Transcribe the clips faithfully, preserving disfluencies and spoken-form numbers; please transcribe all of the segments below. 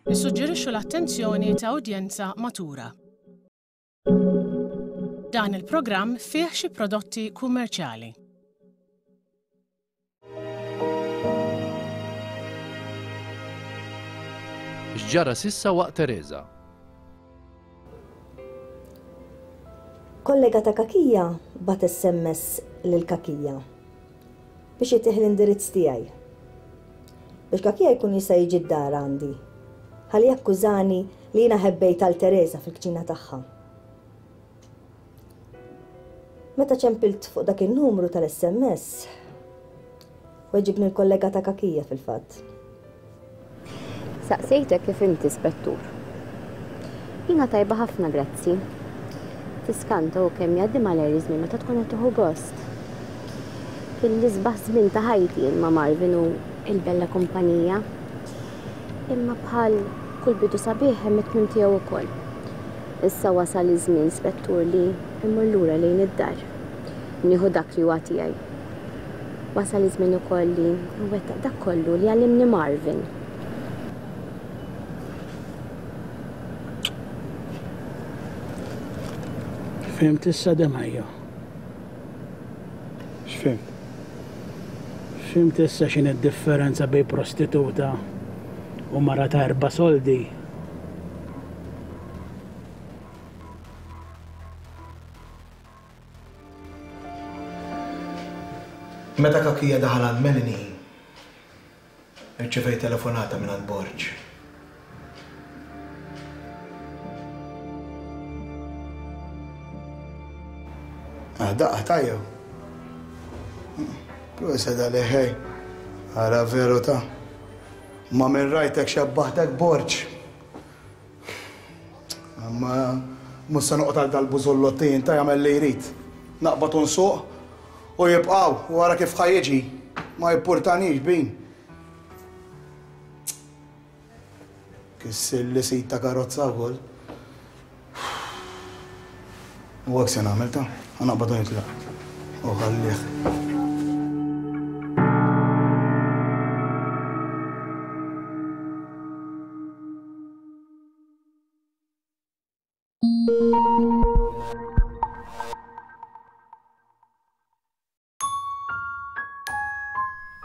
Nissuġġerixxu l-attenzjoni ta' udjenza matura. Dan il-programm fih xi prodotti kummerċjali. X'ġara s'issa waqt Teresa? Kollega ta' Kakija bagħat S M S lil Kakija biex jtih l-indirizz tiegħi. Biex Kakija jkun jista' jiġi d-dar għandi. Ħalli jakkużani li jiena ħebbejt għal Teresa fil-kċina tagħha. Meta ċempilt fuq dak il-numru tal-S M S, weġibni l-kollega ta' Kakija fil-fatt. Saqsejtek kif inti, Spettur. Jiena tajba ħafna, grazzi. Tiskanta u kemm jgħaddi malajr iż-żmien meta tkun qed tieħu gost. Kien l-isbaħ żmien ta' ħajti jien ma' Marvin u il-bella kumpanija. Imma bħal kull bidu sabiħ hemm it-tmiem tiegħu wkoll. Issa wasal iż-żmien, Spettur, li immur lura lejn id-dar. Nieħu dak li huwa tiegħi. Wasal iż-żmien ukoll li nwettaq dak kollu li għallimni Marvin. Fhimt issa, Demajo? X'fhimt? Fhimt issa x'inhi d-differenza bejn prostituta u mara ta' erba' soldi? Meta Kakija daħal għand Melanie, irċevejt telefonata minn għand Borg. Ah, daqqa tajjew. Proset għalih, ħej. Ara veru ta' ma minn rajtek xebbaħtek Borg. Ma mhux se noqgħod għal dal-bużollottin ta' jagħmel li jrid. Naqbad u nsuq u jibqgħu wara kif ħa jiġi. Ma jimpurtanix bin. Kissir li sit ta' karozza wkoll. U hekk se nagħmel ta' ħa naqbad u nitlaq. U ħallih.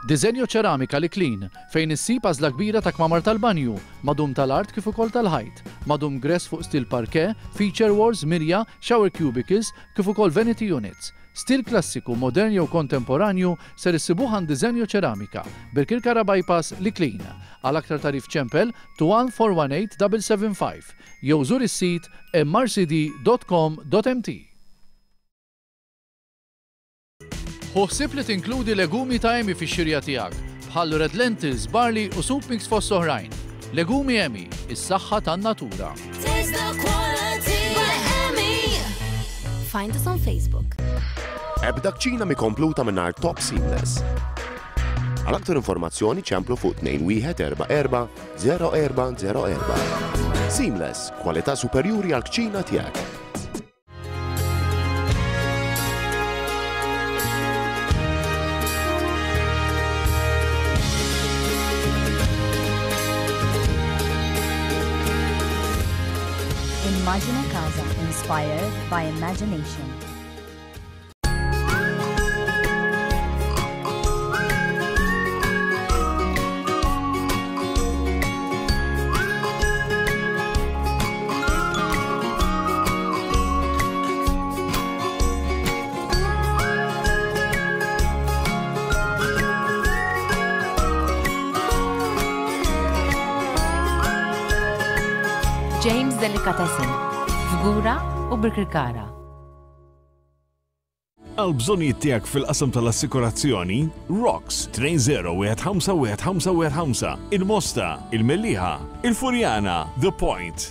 Disenjo Ċeramika L-Iklin, fejn issib għażla kbira ta' kmamar tal-banju, madum tal-art kif ukoll tal-ħajt, madum gres fuq stil parquet, feature walls, mirja, shower cubicles, kif ukoll vanity units. Stil klassiku, modern jew kontemporanju ser issibuh għand Disenjo Ċeramika, Birkirkara Bypass, L-Iklin. Għal aktar tagħrif ċempel two one four one eight seven seven five jew żur is-sit M R C D dot com dot M T. Ħu ħsieb li tinkludi legumi ta' Emmi fix-xirja tiegħek, bħal red lentils, barley u soup mix fost oħrajn. Legumi Emmi, is-saħħa tan-natura. Taste the quality by Emmi. Find us on Facebook. Ebda kċina mhi kompluta mingħajr Top Seamless. Għal aktar informazzjoni ċemplu fuq tnejn wieħed erba' erba' zero erba' zero erba'. Seamless, kwalità superjuri għal kċina tiegħek. Immagine Casa, inspired by imagination. James Delicatessen, Fgura u Birkirkara. Għal bżonijiet tiegħek fil-qasam tal-assikurazzjoni, Rocks tnejn zero wieħed ħamsa wieħed ħamsa wieħed ħamsa, il-Mosta, il-Mellieħa, il-Furjana, The Point.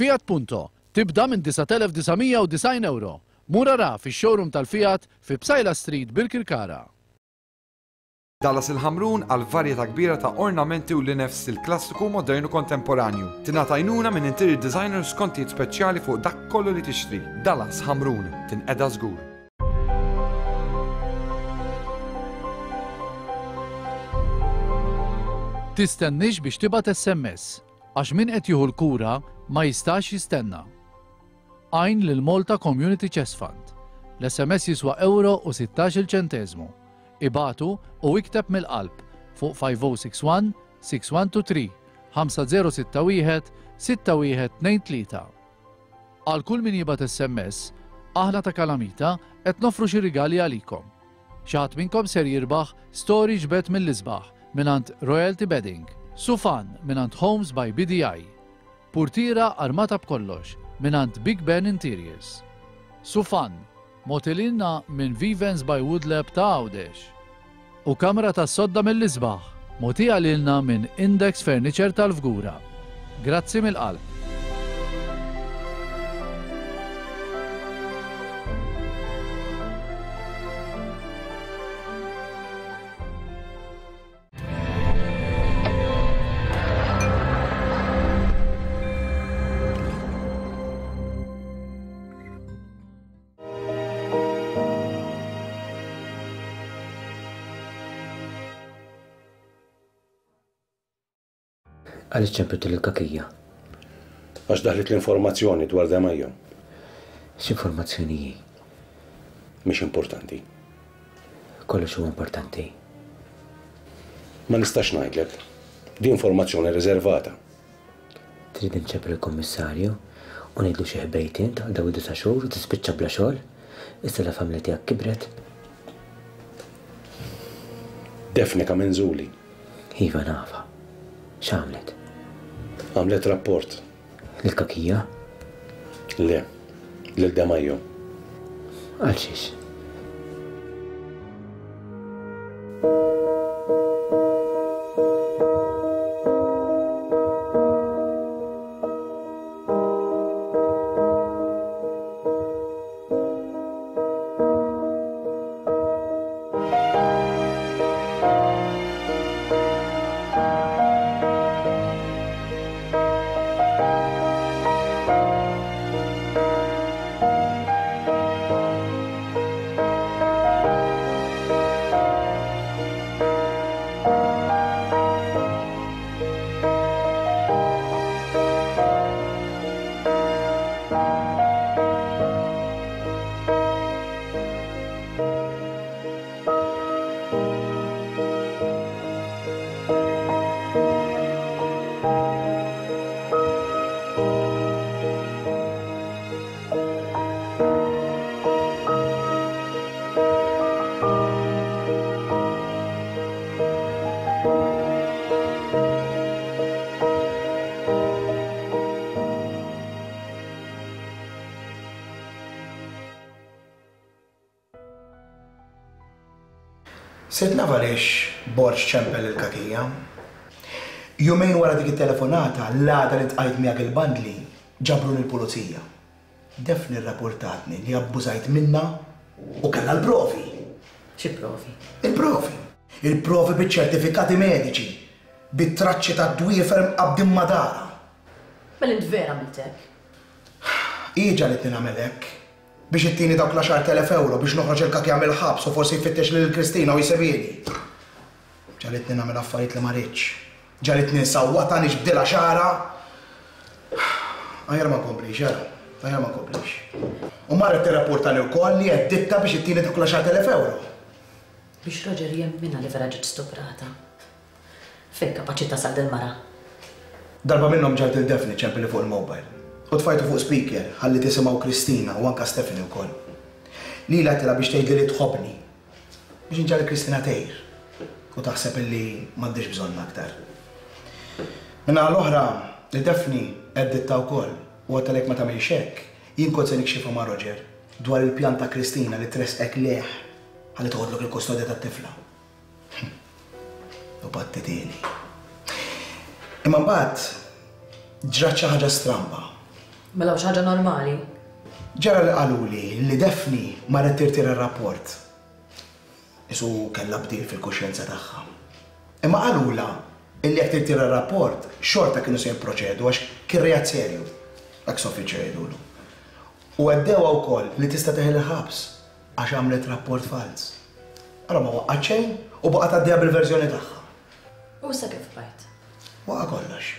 Fiat Punto tibda minn disat elef disa' mija u disgħin euro. Mur ara fix-showroom tal-Fiat fi Psaila Street Birkirkara. Dallas il-Ħamrun għal varjetà kbira ta' ornamenti u linef stil klassiku, modernu kontemporanju. Tingħata għajnuna minn interior designer skontijiet speċjali fuq dak kollu li tixtri. Dallas Ħamrun, tinqeda żgur. Tistennix biex tibgħat S M S, għax min qed jieħu l-kura ma jistax jistenna. Għajn lil Malta Community Chest Fund. L-S M S jiswa euro u sittax-il ċenteżmu. Ibatu u ikteb mill-qalb fuq five oh six one, six one two three, ħamsa zero sitta wieħed, sitta wieħed tnejn tlieta. Għal kull min jibgħat S M S, aħna ta' Kalamita qed nofru xi rigali għalikom. Xi ħadd minnkom ser jirbaħ storage bed mill-isbaħ mingħand Royalty Bedding, Sufan mingħand Homes by B D I, Purtira armata b'kollox mingħand Big Ben Interiors, Sufan motilina minn Vivens by Woodlab ta' Għawdex u kamra ta' sodda mill-isbaħ motija lilna minn Index Furniture tal-Fgura. Grazzi mill-qalb. Għaliex ċempiltu lill-kakija? Għax daħlet l-informazzjoni dwar Demajo. X'informazzjoni hi? Mhix importanti. Kollox huwa importanti. Ma nistax ngħidlek. Di informazzjoni riservata. Trid inċempel il-kummissarju u ngħidlu xi ħbejt int għal dawn id-disa' xhur u tispiċċa bla xogħol? Issa la familja tiegħek kibret. Daphne Camenzuli. Iva nafa. X'għamlet? Għamlet rapport. Lill-kakija? Le, lil Demajo. Għal xiex? Sirt naf għaliex Borg ċempel il-kakija. Jumejn wara dik it-telefonata, l-għada li tqajt miegħek il-bandli, ġabruni l-pulizija. Daphne rrapportatni li abbużajt minna u kellha l-provi. Xi provi? Il-provi. Il-provi biċ-ċertifikati mediċi, bit-traċċi tad-dwiefer mqabbdin ma' dara. Mela int vera għamilt hekk? Hi ġalitni nagħmel hekk biex ittini dawk l-għaxar telef euro biex noħroġ il-kakja mill-ħabs u forsi jfittex lil Kristina u jsebieni. Ġalitni nagħmel affarijiet li ma rridx. Ġalitni nsawwatha nixbdilha xara. Aħjar ma nkomplix, ara. Aħjar ma nkomplix. U marret tirrapportani wkoll li għedditta biex ittini dawk l-għaxar telef euro. Biex Roger jemminha li vera ġiet stuprata. Fejn kapaċi tasal dil-mara? Darba minnhom ġalt il-Daphne ċempili fuq il-mobile. U tfajtu fuq speaker ħalli tisimgħu Kristina u anka Stephanie wkoll. Lila għedtilha biex tgħidli li tħobbni. Biex inġalli Kristina tgħir u taħseb illi m'għandix bżonn aktar. Minna l-oħra, li Daphne għedditta wkoll u għedtilek ma tagħmilx hekk, jien kont se nikxifha ma' Roger dwar il-pjan ta' Kristina li tresqek leh ħalli toħodlok il-kustodja tat-tifla. U battitili. Imma mbagħad ġrat xi ħaġa stramba. Mela xi ħaġa normali. Ġara li qaluli li Daphne marret tirtira r-rapport. Isu kellha bdil fil-kuxjenza tagħha. Imma qalula illi jekk tirtira r-rapport xorta kienu se jipproċedu għax kien reat serju. Ex officio jgħidulu. U għaddewha wkoll li tista' teħel il-ħabs għax għamlet rapport fals. Allora ma waqqgħet xejn u baqgħet għaddejja bil-verżjoni tagħha. U issa kif bajt? Waqa' kollox.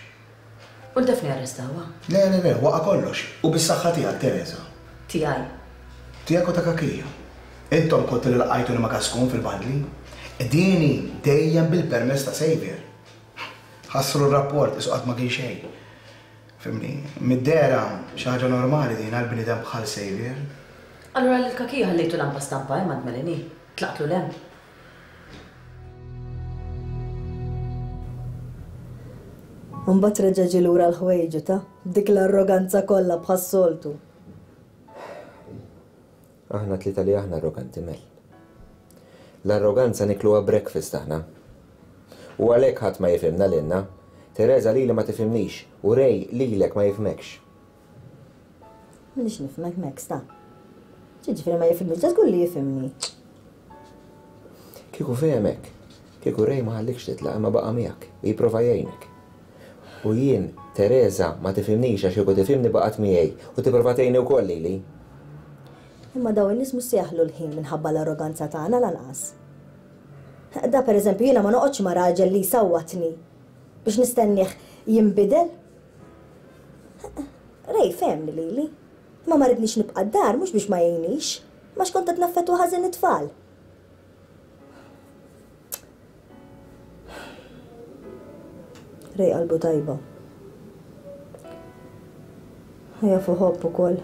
U l-Daphne arrestawha? Le, le, le, waqa' kollox. U bis-saħħa tiegħek, Teresa. Tiegħi. Tiegħek u ta' Kakija. Intom kontu li laqajtuni ma' Kaskun fil-bandli. Dini dejjem bil-permess ta' Xavier. Ħassru r-rapport isu qatt ma kien xejn. Fimni, mid-dehra xi ħaġa normali din għal bniedem bħal Xavier. Allura lil Kakija ħallejtu lampa stampa hemm għand Melanie. Tlaqtlu l-hemm. Mbagħad reġa' ġie lura l-ħwejġu ta' dik l-arroganza kollha bħas-soltu. Aħna tlieta li aħna arroganti Mel. L-arroganza nikluha breakfast aħna. U għalhekk ħadd ma jifhimna lilna. Teresa lili ma tifhimnix u Ray lilek ma jifhmekx. M'inix nifhmek Max ta. Ġifieri ma jifhimnix, da żgur li jifhimni. Kieku fehmek, kieku Ray ma ħallikx titlaq imma baqa' miegħek u jipprova jgħinek. U jien, Teresa, ma tifhimnix għax kieku tifhimni baqgħet miegħi u tipprova tgħinni wkoll lili. Imma dawn in-nies mhux se jaħlu l-ħin minħabba l-arroganza tagħna lanqas. Da pereżempju jiena ma noqgħodx ma' raġel li jsawwatni biex nistennih jinbidel. Ray fehmni lili. Ma ma ridnix nibqa' d-dar mhux biex ma jgħinix, ma x'kont qed naffettwa ħażin it-tfal. Ray qalbu tajba. Jafu ħobb ukoll.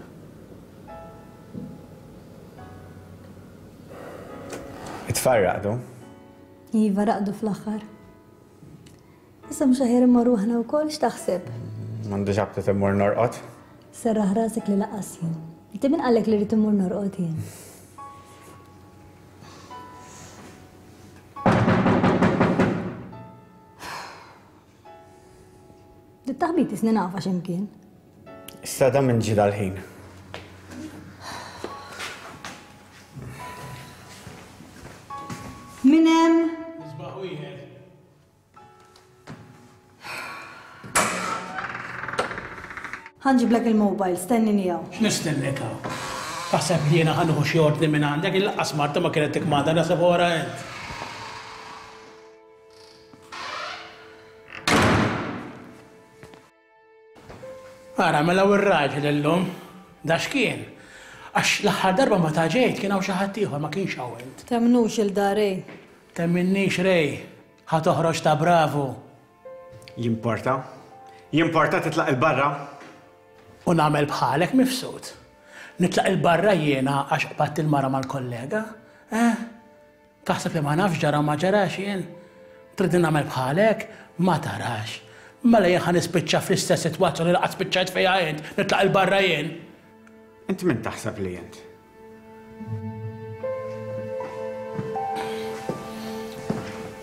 It-tfal raqdu? Iva, raqdu fl-aħħar. Issa mhux aħjar immorru aħna wkoll, x'taħseb? M'għandix aptit immur norqod. Serraħ rasek li laqas jien. Inti min qallek li rrid immur norqod jien? Dit-taħbit isni nafa x'imkien. Issa da minn ġi dal-ħin. Min hemm? Nisbaħ wieħed. Ħanġiblek il-mobile, stennini hawn. X'nistennek hawn? Taħseb li jiena ħa nieħu xi ordni minn għandek, il-laqqas Marta ma kienet tikmanda naħseb wara int. Ara, mela u r-raġel illum, da x'kien? Għax l-aħħar darba ma taġejt kien hawn xi ħadd ieħor ma kienx hawn int. Temnux il-dar Ray. Temminnix Ray, ħa toħroġ ta' bravu. Jimporta? Jimporta titlaq il-barra? U nagħmel bħalek mifsud. Nitlaq il-barra jiena għax qbadt il-mara mal-kollega. Eh? Taħseb li ma nafx ġara ma ġarax jien? Trid nagħmel bħalek? Ma tarax. Mela jien ħa nispiċċa fl-istess sitwazzjoni li qatt spiċċajt fejha int, nitlaq il-barra jien. Int min taħseb li int?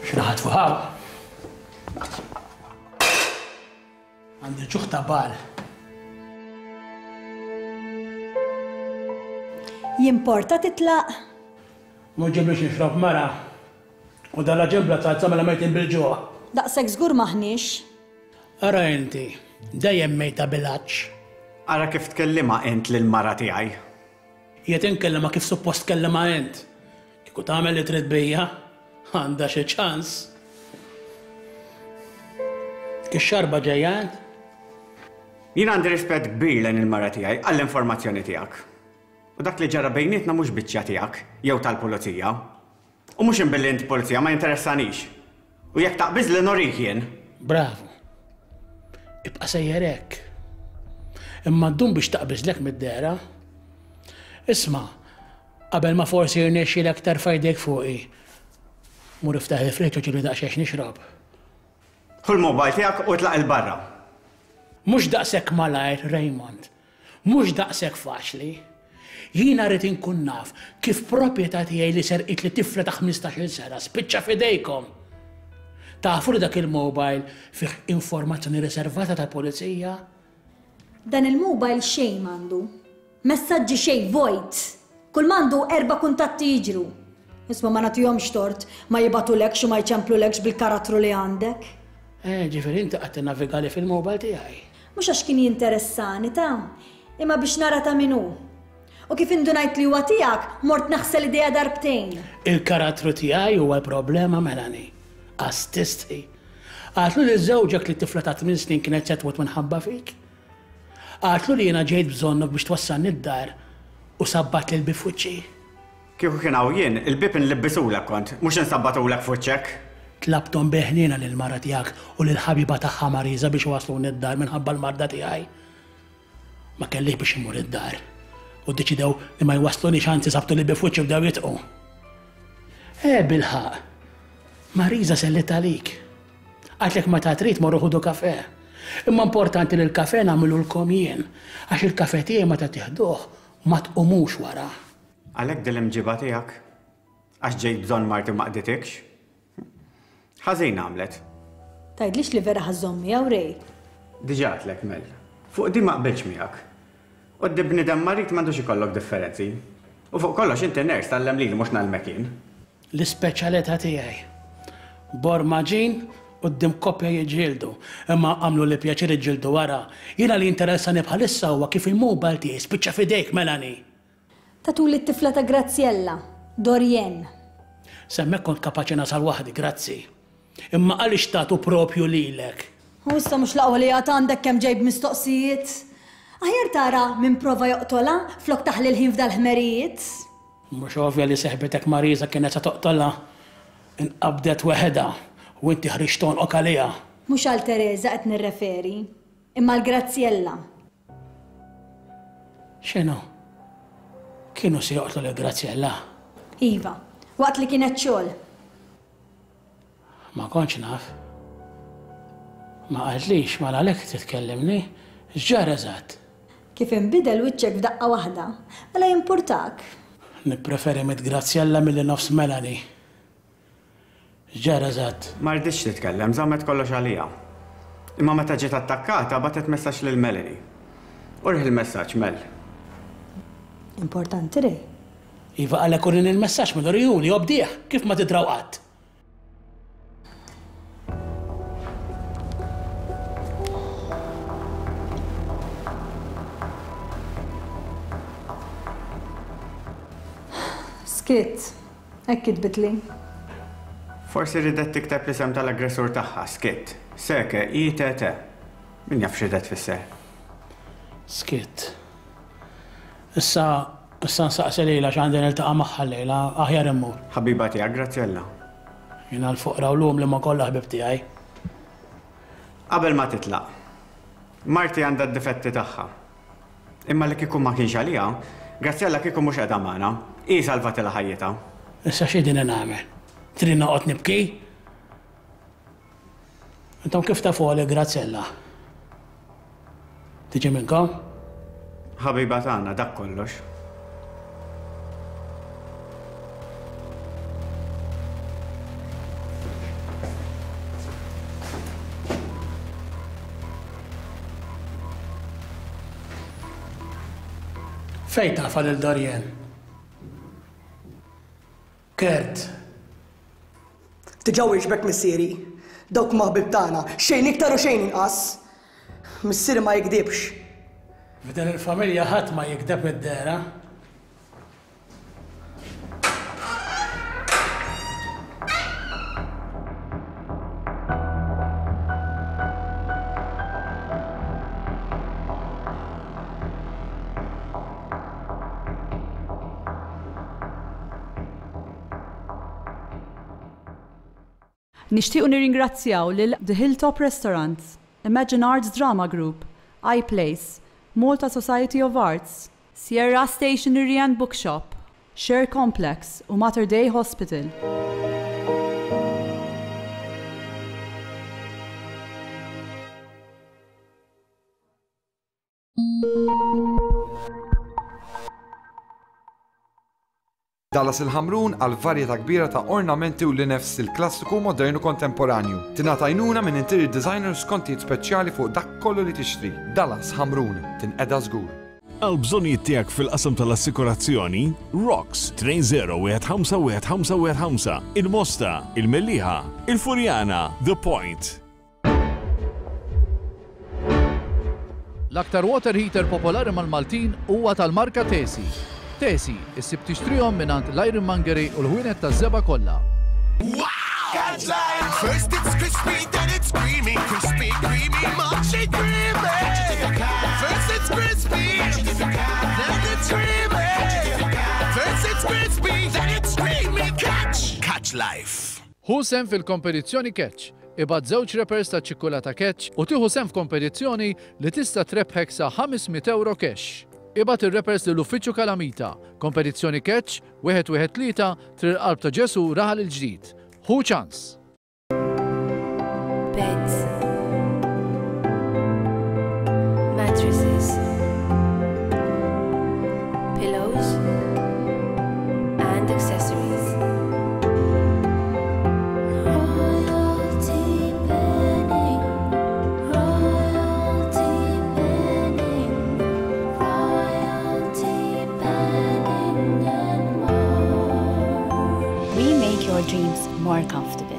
X'raħat fuq hawn? Għandi ġuħ ta' bal. Jimporta titlaq? Mhux ġiblix nixrob mara. U dalla ġembla tazza mela mejtin bil-ġuħ. Daqshekk żgur maħniex. Ara inti, dejjem mejta bil-għatx. Ara kif tkellimha int lill-mara tiegħi. Jiet inkellimha kif suppost tkellimha int. Kieku tagħmel li trid bija, għandha xi ċans. Kif xarba ġejja int? Jien għandi rispett kbir lejn il-mara tiegħi għall-informazzjoni tiegħek. U dak li ġara bejnietna mhux biċċa tiegħek jew tal-pulizija. U mhux inbilli int pulizija ma jinteressanix. U jekk taqbiż li norik jien. Bravo. Ibqa' sejjer hekk. Imma ddum biex taqbiżlek mid-dehra. Isma', qabel ma forsi jirnexxielek terfa' jdejk fuqi. Mur iftaħ il-friġġ u ġibli daqsxejn nixrob. Ħu l-mobile tiegħek u tlaq il-barra. Mhux daqshekk malajr, Raymond. Mhux daqshekk faċli. Jiena rrid inkun naf kif proprjetà tiegħi li serqit li tifla ta' ħmistax-il sena spiċċa f'idejkom. Tafu li dak il-mobile fih informazzjoni riservata tal-pulizija? Dan il-mobile xejn m'għandu. Messaġġi xejn vojt. Kull m'għandu erba' kuntatti jiġru. Isma' ma nagħtihomx tort, ma jibgħatulekx u ma jċemplulekx bil-karattru li għandek. Eh, ġifieri inti qgħadt tinnavigali fil-mobile tiegħi. Mhux għax kien jinteressani ta' imma biex nara ta' min hu. U kif indunajt li huwa tiegħek, mort naħsel idejja darbtejn. Il-karattru tiegħi huwa l-problema, Melanie. Għas tistħi. Għatlu li żewġek li tifla ta' tmien snin kienet se tmut minħabba fik. Għatlu li jiena ġejt bżonnok biex twassalni d-dar u sabbat lil bieb f'wiċċi. Kieku kien hawn jien, il-bieb inlibbisulek kont, mhux insabbatulek f'wiċċek. Tlabthom bi ħniena lill-mara tiegħek u lill-ħabiba tagħha Marisa biex iwassluni d-dar minħabba l-marda tiegħi. Ma kellix biex immur id-dar. U ddeċidew li ma jwasslunix, anzi sabtu li bieb f'wiċċi u bdew jitqu. Eh, bilħaqq. Marisa sellit għalik. Għatlek meta trid morru ħudu kafe. Imma importanti li l-kafe nagħmilulkom jien, għax il-kafe tiegħi meta tieħduh ma tqumux wara. Għalhekk din l-imġiba tiegħek? Għax ġejt bżonn marti ma qditikx? Ħażin għamlet. Tgħidlix li vera ħażżomm miegħu Ray. Diġà għedtlek Mel. Fuq din ma qbiltx miegħek. Quddiem bniedem marid m'għandux ikollok differenzi. U fuq kollox inti nurse tgħallem lili mhux ngħallmek jien. L-ispeċjalità tiegħi. Bormaġin quddiem koppja jiġġieldu, imma għamlu li pjaċir iġġieldu wara. Jiena li jinteressani bħalissa huwa kif il-mobile tiegħi spiċċa f'idejk, Melanie. Tatuli t-tifla ta' Graziella, Dorien. S'hemmhekk kont kapaċi nasal waħdi, grazzi. Imma għaliex tatu propju lilek? U issa mhux l-aqwa li għad għandek kemm ġejb mistoqsijiet. Aħjar tara min prova joqtolha flok taħli l-ħin f'dal-ħmerijiet. Mhux ovvja li seħbitek Marisa kienet se toqtolha. Inqabdet weħedha u inti ħriġt tonqok għaliha. Mhux għal Teresa qed nirreferi, imma għal Graziella. X'inhu? Kienu se joqtlu lil Graziella? Iva, waqt li kienet xogħol. Ma kontx naf. Ma qaltlix, mela għalhekk titkellimni. X'ġara eżatt? Kif inbidel wiċċek f'daqqa waħda, mela jimpurtak. Nippreferi miet Graziella milli nofs Melanie. X'ġara eżatt? Ma rridx titkellem, żammet kollox għalija. Imma meta ġiet attakkata bagħtet messaġġ lil Melanie. Urih il-messaġġ, Mel. Importanti Ray. Iva għalhekk urini l-messaġġ minn urihuli, obdih, kif ma tidraw qatt. Skitt, hekk kitbitli. Forsi ridet tikteb l-isem tal-aggressur tagħha, Skitt. Seke, I T T. Min jaf x'ridet tfisser? Skitt. Issa, issa nsaqsi lejla x'għandi niltaqa' magħha llejla, aħjar immur. Ħabiba tiegħek, Graziella. Jiena l-foqra u l-um li ma kollha ħbib tiegħi. Qabel ma titlaq, marti għandha d-difetti tagħha. Imma li kieku ma kienx għaliha, Graziella kieku mhux qiegħda magħna. Hi salvatilha ħajjitha. Issa x'qegħdin nagħmel? Trid noqgħod nibki? Intom kif tafu għal Graziella? Tiġi minnkom? Ħabiba tagħna dak kollox. Fejn tafa lil Dorien? Kurt. Diġà wieġbek missieri. Dawk ma ħbib tagħna, xejn iktar u xejn inqas. Missieri ma jikdibx. F'din il-familja ħadd ma jikdeb id-dehra. Nixtiequ nirringrazzjaw lil The Hilltop Restaurant, Imagine Arts Drama Group, iPlace, Malta Society of Arts, Sierra Stationery and Bookshop, Share Complex u Mater Dei Hospital. Dallas il-Ħamrun għal varjetà kbira ta' ornamenti u linef stil klassiku, modern u kontemporanju. Tingħata għajnuna minn interior designer skontijiet speċjali fuq dak kollu li tixtri. Dallas Ħamrun, tinqeda żgur. Għal bżonnijiet tiegħek fil-qasam tal-assikurazzjoni, Rocks tnejn żero wieħed ħamsa wieħed ħamsa wieħed ħamsa, il-Mosta, il-Mellieħa, il-Furjana, The Point. L-aktar water heater popolari mal-Maltin huwa tal-marka Tesi. Tesi, issib tixtrihom mingħand l-Ironmongery u l-ħwienet taż-żebgħa kollha. Catch life. First it's crispy, then it's creamy, crispy, creamy, mochi creamy. First it's crispy, then it's creamy. First it's crispy, then it's creamy. Catch, catch life. Ħu sehem fil-kompetizzjoni Catch. Ibgħat żewġ wrappers ta' ċikkulata Catch u tieħu sehem f'kompetizzjoni li tista' trebħek sa ħames mitt euro cash. Ibgħat ir-wrappers lill-Uffiċċju Kalamita. Kompetizzjoni Catch, wieħed wieħed tlieta, Triq il-Qalb ta' Ġesu, Raħal il-Ġdid. Ħu ċans! Beds, mattresses, pillows and accessories. Royalty Bedding, Royalty Bedding, Royalty Bedding and more. We make your dreams more comfortable.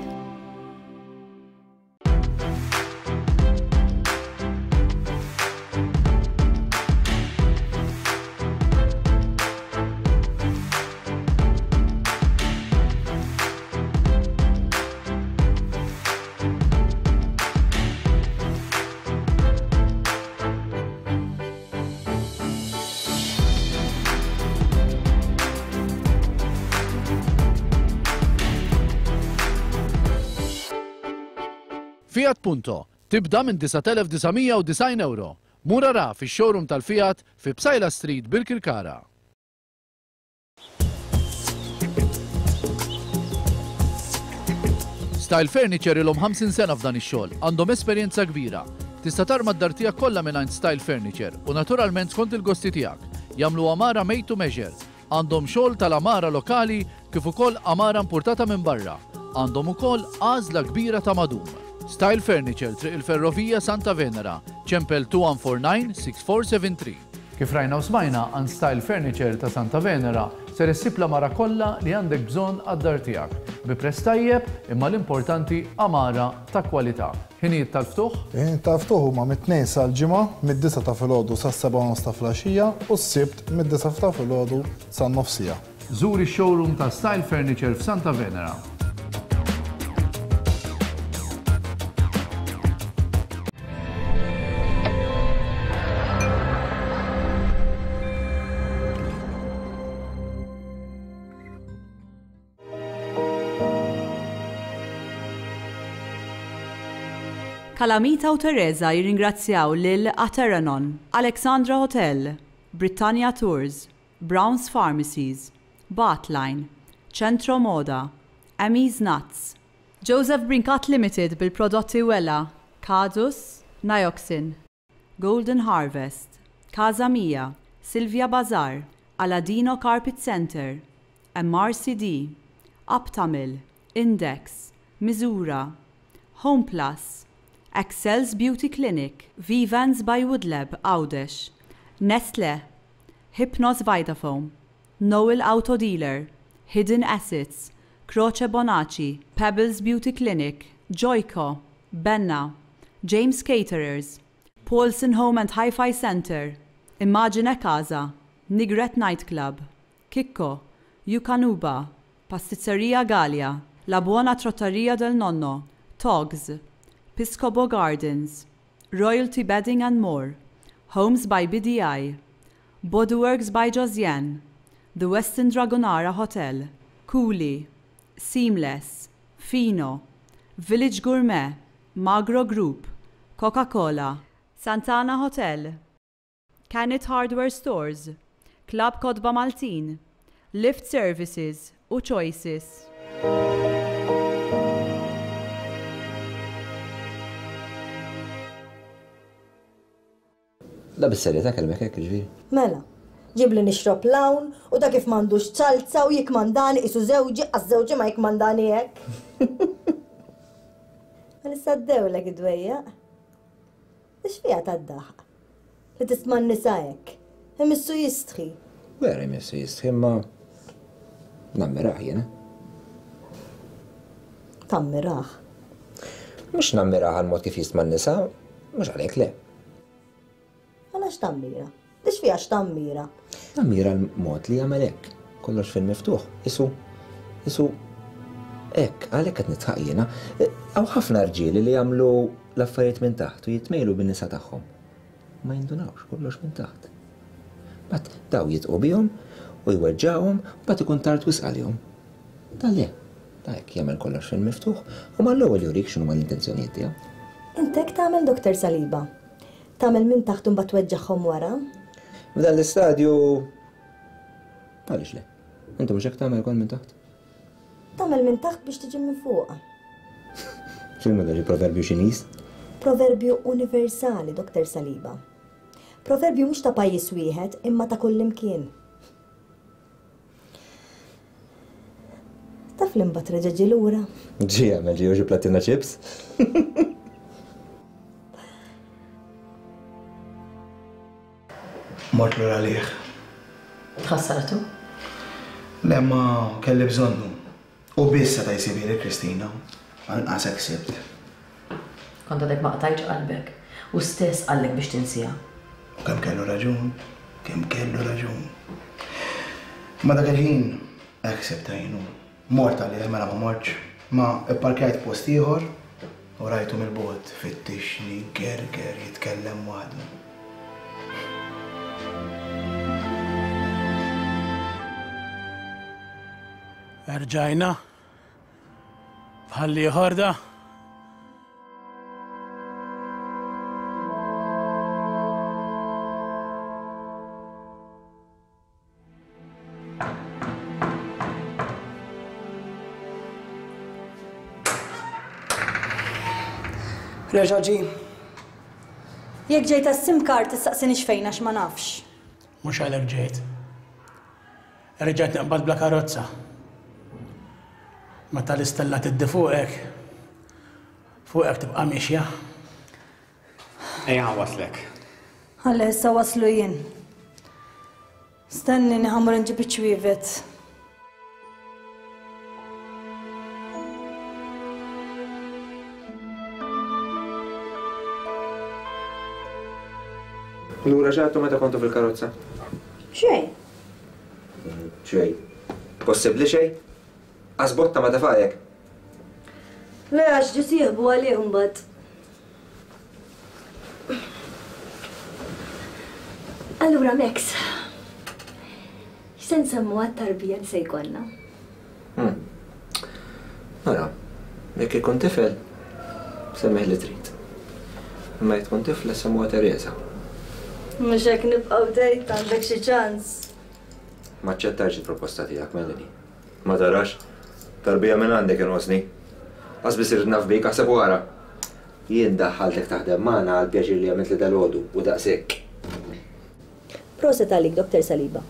Fiat Punto tibda minn disat elef disa' mija u disgħin euro. Mur ara fix-showroom tal-Fiat fi Psaila Street Birkirkara. Style Furniture ilhom ħamsin sena f'dan ix-xogħol, għandhom esperjenza kbira. Tista' tarma d-dar tiegħek kollha mingħand Style Furniture u naturalment skont il-gosti tiegħek. Jagħmlu għamara made to measure. Għandhom xogħol tal-għamara lokali kif ukoll għamara importata minn barra. Għandhom ukoll għażla kbira ta' madum. Style Furniture, Triq il-Ferrovija Santa Venera, ċempel two one four nine six four seven three. Kif rajna u smajna, għand Style Furniture ta' Santa Venera ser issib l-għamara kollha li għandek bżonn għad-dar tiegħek. Bi prezz tajjeb, imma l-importanti għamara ta' kwalità. Ħinijiet tal-ftuħ? Ħinijiet tal-ftuħ huma mit-tnejn sal-ġimgħa, mid-disgħa ta' filgħodu sas-sebgħa u nofs ta' filgħaxija u s-sibt mid-disgħa ta' filgħodu san-nofsija. Żur ix-showroom ta' Style Furniture f'Santa Venera. Kalamita u Teresa jirringrazzjaw lil Ateranon, Alexandra Hotel, Britannia Tours, Browns Pharmacies, Bartline, Centro Moda, Emmy's Nuts, Joseph Brincat Limited bil-prodotti Wella, Kadus, Nioxin, Golden Harvest, Casa Mia, Silvia Bazar, Aladino Carpet Center, M R C D, Aptamil, Index, Misura, Home Plus, Excel's Beauty Clinic, Vivans by Woodlab, Għawdex, Nestle, Hypnos Vitafoam, Noel Auto Dealer, Hidden Assets, Croce Bonacci, Pebbles Beauty Clinic, Joyco, Benna, James Caterers, Paulson Home and Hi-Fi Center, Immagine Casa, Nigret Nightclub, Kikko, Yukanuba, Pasticceria Gallia, La Buona Trattoria del Nonno, Togs, Piscopo Gardens, Royalty Bedding and More, Homes by B D I, Bodyworks by Josiane, The Westin Dragonara Hotel, Cooley, Seamless, Fino, Village Gourmet, Magro Group, Coca-Cola, Santana Hotel, Canet Hardware Stores, Club Kotba Maltin, Lift Services u Choices. La bis-serjetà kellmek hekk, ġifieri? Mela, Ġibli nixrob l-hawn u ta' kif m'għandux ċalza u jikmandani qisu żewġi għax żewġi ma jikmandani hekk. Ma issa ddewlek id-dwejjaq. Ix fiha tad-daħq? Li tisma' n-nisa hekk. Imissu jistħi. Vera jmissu jistħi imma nammirah jiena. Tammirah? Mhux nammirah għall-mod kif jistma' n-nisa, mhux għalhekk le. Għala x'tammira? Ix fiha x'tammira? Nammira l-mod li jagħmel hekk. Kollox fil-miftuħ. Isu, isu, hekk, għalhekk qed nitħaq jiena. Hawn ħafna rġieli li jagħmlu l-affarijiet minn taħt u jitmejlu bin-nisa tagħhom. Ma jindunawx kollox minn taħt. Bat daw jitqu bihom u jweġġawhom, bat ikun tard wisq għalihom. Da le, da hekk jagħmel kollox fil-miftuħ u mal-ewwel jurik x'inhuma l-intenzjonijiet tiegħu. Int hekk tagħmel Doktor Saliba. Tagħmel minn taħt u mbagħad tweġġagħhom wara? F'dan l-istadju għaliex le? Inti mhux hekk tagħmel ukoll minn taħt? Tagħmel minn taħt biex tiġi minn fuq. X'inhu dak il-proverbju Ċiniż? Proverbju universali, Doktor Saliba. Proverbju mhux ta' pajjiż wieħed imma ta' kullimkien. Taf li mbagħad reġa' ġie lura? Ġie għamel ġie xi plattina chips. Mort lura għalih. Tħassartu? Le, ma kelli bżonnu. U biss seta' jsibili Kristina. Għal-inqas hekk sibt. Kont għadek ma qtajtx qalbek. U stess qallek biex tinsiha. U kemm kellu raġun, kemm kellu raġun. Ma dak il-ħin hekk sibta jien. Mort għalih mela ma mortx. Ma ipparkjajt post ieħor u rajtu mill-bogħod fittixni, gerger, jitkellem waħdu. Erġajna bħalli ħorda. Reġa' ġie. Jekk ġejt għas-SIM card tistaqsinix fejn għax ma nafx. Mhux għalhekk ġejt. Reġgħet naqbad bla karozza. Meta l-istella tiddi fuqek, fuqek tibqa' mixja. Ejja waslek. Ħalli issa waslu jien. Stenni ħa mmur nġib iċ-ċwievet. Lura ġatu meta kontu fil-karozza? Xejn. Xejn. Possibbli xejn? Għasbotta ma tafajek? Le, għax ġi sieħbu għalih mbagħad. Allura, Max, x'se nsemmu għat-tarbija li se jkollna? Mela, jekk ikun tifel, semmih li trid. Imma jekk tkun tifla semmuha Teresa. Mhux hekk nibqgħu dejt għandek xi ċans. Ma aċċettajx il-proposta tiegħek, Melanie. Ma tarax, tarbija minn għandek inqosni. Qas biss irid naf bik aħseb wara. Jien daħħaltek taħdem magħna għal pjaċir li għamilt li dalgħodu u daqshekk. Proset għalik, Doktor Saliba.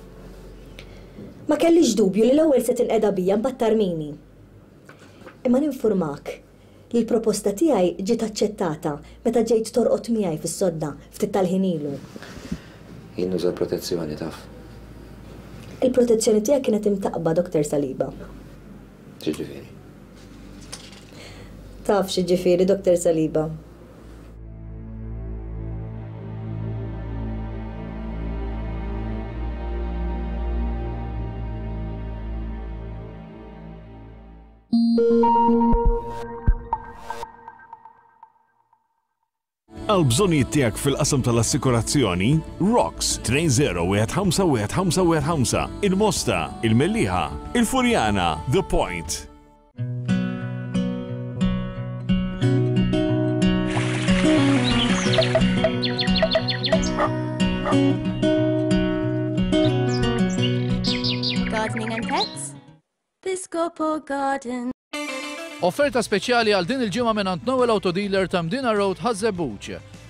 Ma kellix dubju li l-ewwel se tinqeda bija mbagħad tarmini. Imma ninfurmak li l-proposta tiegħi ġiet aċċettata meta ġejt torqod miegħi fis-sodda ftit tal-ħin ilu. Jien nuża l-protezzjoni taf. Il-protezzjoni tiegħek kienet imtaqba, Doktor Saliba. X'jiġifieri? Taf x'jiġifieri, Doktor Saliba. Għal bżonnijiet tiegħek fil-qasam tal-assikurazzjoni, Rocks tnejn zero wieħed ħamsa wieħed ħamsa wieħed ħamsa, il-Mosta, il-Mellieħa, il-Furjana, The Point. Gardening and pets? Piscopo Garden. Offerta speċjali għal din il-ġimgħa minn Noel Auto Dealer ta' Mdina Road Ħaż-Żebbuġ.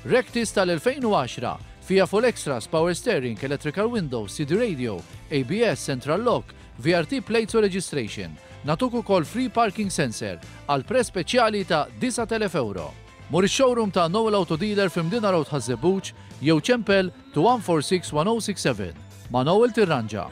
Rectis tal-elfejn u għaxra, Fiha full extras, power steering, electrical windows, C D radio, A B S, central lock, V R T plates u registration. Nagħtuk ukoll free parking sensor għal prezz speċjali ta' disat elef euro. Mur ix-showroom ta' Noel Auto Dealer f'Imdina Road Ħaż-Żebbuġ jew ċempel two one four six one oh six seven. Ma' Noel tirranġa.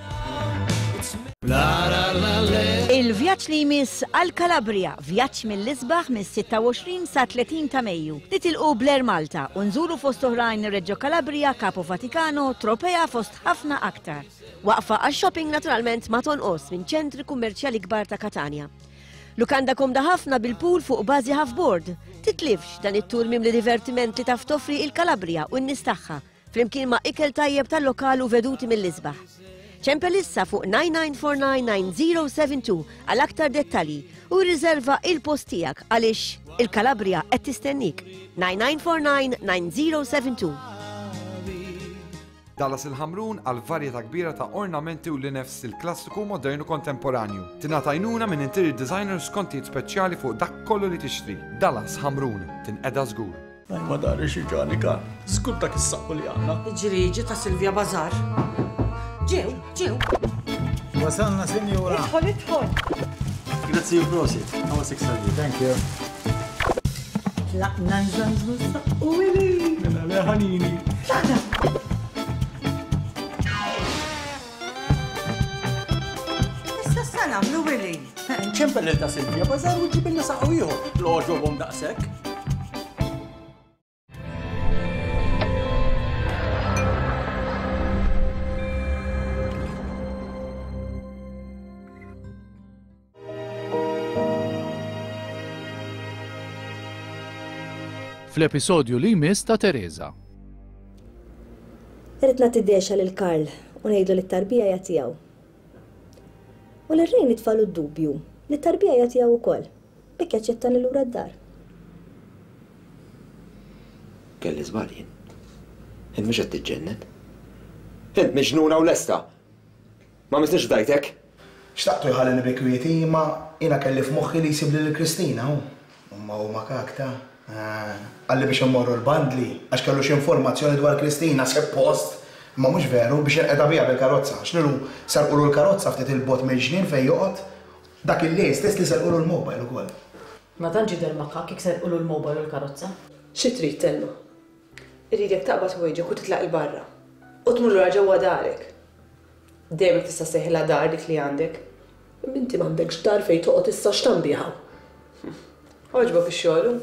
Il-vjaġġ li jmiss għal Calabria, vjaġġ mill-isbaħ mis-sitta u għoxrin sa tletin ta' Mejju. Nitilqu bl-Air Malta u nżuru fost oħrajn Reggio Calabria, Capo Vaticano, Tropea fost ħafna aktar. Waqfa għax-shopping naturalment ma tonqos minn ċentri kummerċjali kbar ta' Katanja. Lukanda komda ħafna bil-pool fuq bażi half-board. Titlifx dan it-tur mimli divertiment li taf toffri il-Calabria u n-nies tagħha, flimkien ma' ikel tajjeb tal-lokal u veduti mill-isbaħ. Ċempel issa fuq nine nine four nine nine zero seven two għal aktar dettalji u rriserva il-post tiegħek għaliex il-Calabria qed tistennik. nine nine four nine nine zero seven two. Dallas il-Ħamrun għal varjetà kbira ta' ornamenti u linefs il-klassiku modernu kontemporanju. Tingħata għajnuna minn interior designers skontijiet speċjali fuq dak kollu li tixtri. Dallas Ħamrun, tinqeda żgur. Daj ma dari xi ġani kan, żgur dak is-saqqu li għandna. Ġriġi ta' Silvia Bazar. Ġew, ġew. Wasalna, sinjura. Idħol, idħol. Grazzi u prosit. Għawa six thirty. Thank you. Tlaqna nżanżu s-saqqu ili. Mela le ħanini. Tlaqna. Issa sa nagħmlu Willy. Nċempel lil ta' Silvia Bazar u ġibilna saqqu ieħor. L-għoġobhom daqshekk. Fl-episodju li jmiss ta' Teresa. Irrid nagħti dexa lil Karl u ngħidlu li t-tarbija hija tiegħu. U lil Ray nitfalu d-dubju li t-tarbija hija tiegħu wkoll, biex jaċċettani lura d-dar. Kelli żball jien. Int mhux qed tiġġennen. Int miġnuna u lesta. Ma misniex fdajtek. Xtaqtu jħallini bi kwieti, imma jiena kelli f'moħħi li jsib lil Kristina hu. Imma hu makak ta' Qalli biex immorru l-bandli, għax kellu xi informazzjoni dwar Kristina, suppost, imma mhux veru biex inqeda biha bil-karozza. X'nilu sarqulu l-karozza ftit il-bot mill-ġnien fejn joqgħod, dak il-lejl stess li sarqulu l-mobile ukoll. Ma tantx jidher makak jekk sarqulu l-mobile u l-karozza. Xi trid Telma? Irridek taqbad ħwejġek u titlaq il-barra. U tmur lura ġewwa darek. Dejjem tista' sejħilha dar dik li għandek. Imma inti m'għandekx dar fejn toqgħod issa x'tambiha. Għoġbok ix-xogħol?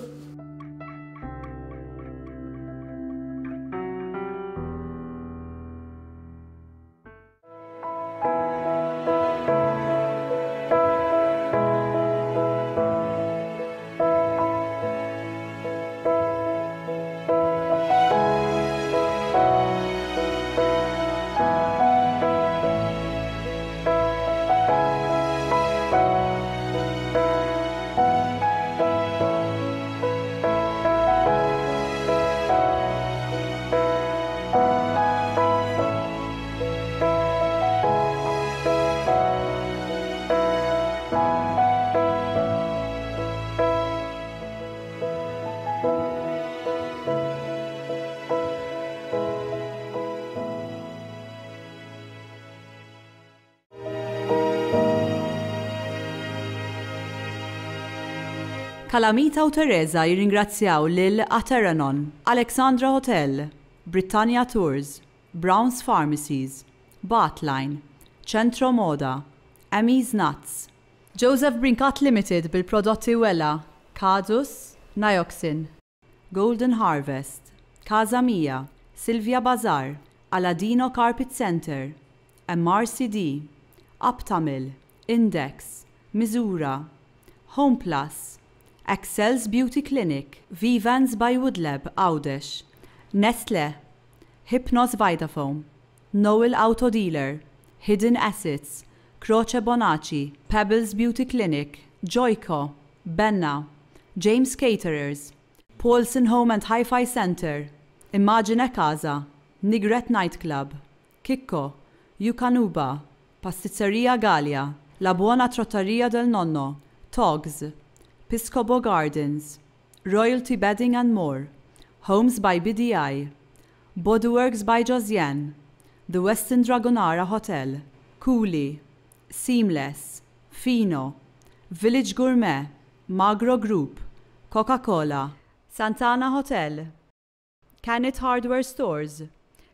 Kalamita u Teresa jirringrazzjaw lil Ateranon, Alexandra Hotel, Britannia Tours, Brown's Pharmacies, Bartline, Centro Moda, Emmy's Nuts, Joseph Brincat Limited bil-prodotti Wella, Kadus, Nioxin, Golden Harvest, Casa Mia, Silvia Bazar, Aladino Carpet Center, M R C D, Aptamil, Index, Misura, Home Plus, Excel's Beauty Clinic, Vivans by Woodlab, Għawdex, Nestle, Hypnos Vitafoam, Noel Auto Dealer, Hidden Assets, Croce Bonacci, Pebbles Beauty Clinic, Joyco, Benna, James Caterers, Paulson Home and Hi-Fi Center, Immagine Casa, Nigret Nightclub, Kikko, Yukanuba, Pasticceria Gallia, La Buona Trattoria del Nonno, Togs, Piscopo Gardens, Royalty Bedding and More, Homes by B D I, Bodyworks by Josiane, The Westin Dragonara Hotel, Cooley, Seamless, Fino, Village Gourmet, Magro Group, Coca-Cola, Santana Hotel, Canet Hardware Stores,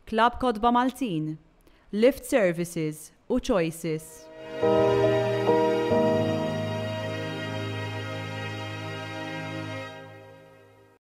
Club Kotba Maltin, Lift Services u Choices.